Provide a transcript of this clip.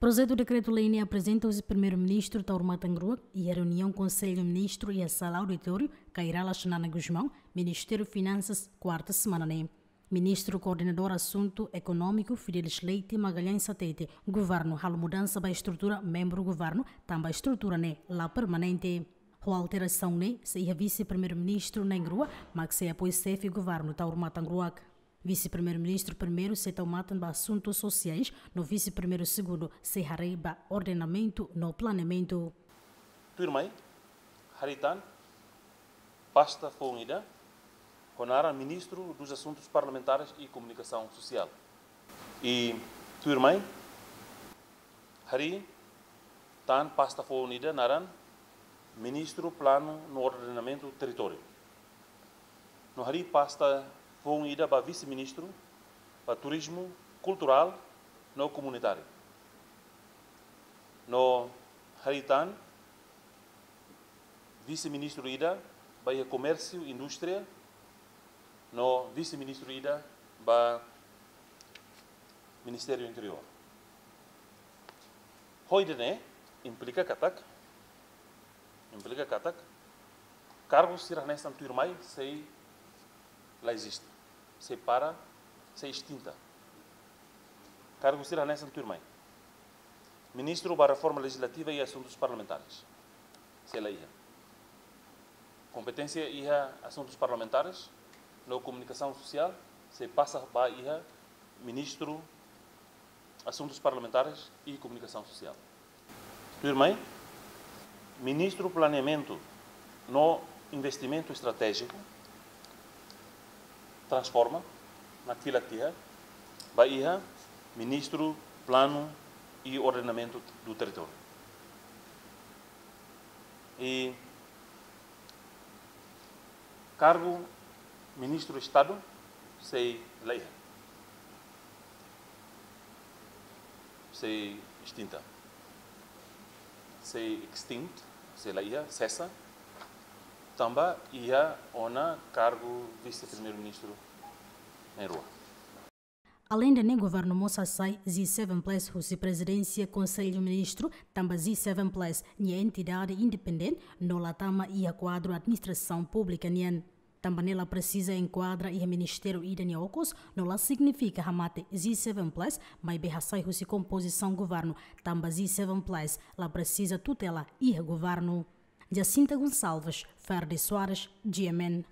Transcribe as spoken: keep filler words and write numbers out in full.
Projetu dekretu-lei ne'e aprezenta husi Primeiru-Ministru Taur Matan Ruak iha reuniaun Konsellu Ministru iha Sala Auditóriu Kay Rala Xanana Gusmão, Ministériu Finansas, kuarta semana ne'e. Ministru Koordenadór Asuntu Ekonómiku Fidelis Leite Magalhães hatete, governu halo mudansa ba estrutura membru governu, tanba estrutura ne'e la permanente. Ho alterasaun ne'e sei iha Vise-Primeiru-Ministru na'in-rua, mak sei apoia xefe governu Taur Matan Ruak. Vise-Primeiru-Ministru primeiru sei tau matan ba asuntu sosiais, no Vise-Primeiru segundu sei haree ba ordenamentu no planeamentu. Tuirmai, harii tan pasta foun ida ho naran Ministru dos Assuntos Parlamentares e Comunicação Social. I tuirmai, harii tan pasta foun ida naran Ministru Planu no Ordenamentu Territóriu. No harii pasta foun ida ba Vise-Ministru ba Turizmu Kulturál no Komunitáriu. No harii tan Vise-Ministru ida ba iha Komérsiu Indústria, no Vise-Ministru ida ba Ministériu Interiór. Ho ida-ne'e implika katak, implika katak kargu sira hanesan tuirmai sei la eziste, sei para, sei estinta. Kargu sira hanesan tuirmai. Ministru ba Reforma Lejislativa e Asuntus Parlamentares, sei la iha. Kompeténsia iha asuntus parlamentares no komunikasaun sosiál sei pasa ba iha Ministru Asuntus Parlamentares e Komunikasaun Sosiál. Tuirmai, Ministru Planeamentu no Investimentu Estratéjiku transforma, nakfilak tiha, ba iha Ministru Planu e Ordenamentu do Territóriu. I kargu Ministru Estadu sei la iha. Sei estinta. Sei extinct, sei la iha, sesa. Tanba iha ona kargu Vise-Primeiru-Ministru na'in-rua. Aleinde ne'e, governu mós hasai G seven plus husi Prezidénsia Konsellu Ministru, tanba G seven plus ne'e entidade independente, no la tama iha kuadru administrasaun públika nian. Tanba ne'e la presiza enkuadra iha ministériu ida nia okos, no la signifika hamate G seven plus, maibé hasai husi kompozisaun governu, tanba G seven plus la presiza tutela iha governu. Jacinta Gonçalves, Ferdi Soares, G M N.